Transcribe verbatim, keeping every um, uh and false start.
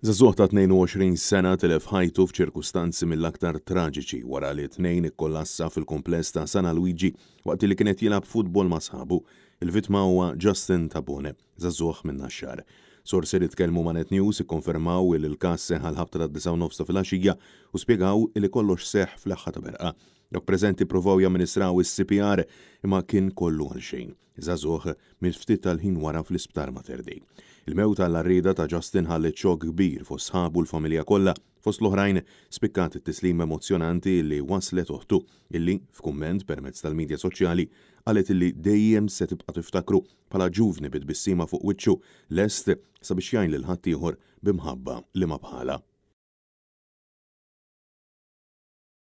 Żagħżugħ ta' tnejn u għoxrin sena tilef ħajtu f'ċirkustanzi mill-aktar traġiċi wara li tnejn ikkollassa fil-kumpless ta' San Luigi waqt li kien qed jilgħab futbol ma' sħabu. Il-vittma huwa Justin Tabone, żagħżugħ minn Naxxar. Sorsi li tkellmu ma' Net News ikkonfermaw li l-każ seħħ għal ħabta tad-disgħa u nofs ta' filgħaxija u spjegaw li kollox seħħ f'leħħa ta' berqa. Dawk preżenti provaw jamministraw is-C P R imma kien kollu għal xejn. Żagħżugħ miet ftit tal-ħin wara fl-isptar Mater Dei. Il-mewt għall-għarrieda ta' Justin ħallet xokk kbir fost sħabu, l-familja kollha. Fost l-oħrajn spikkat it-tislim emozjonanti li waslet oħtu, illi f'kumment permezz tal-medja soċjali qalet illi dejjem se tibqa' tiftakru bħala ġuvni bit-tbissima fuq wiċċu, lest sabiex jgħin lil ħaddieħor b'imħabba li ma bħala.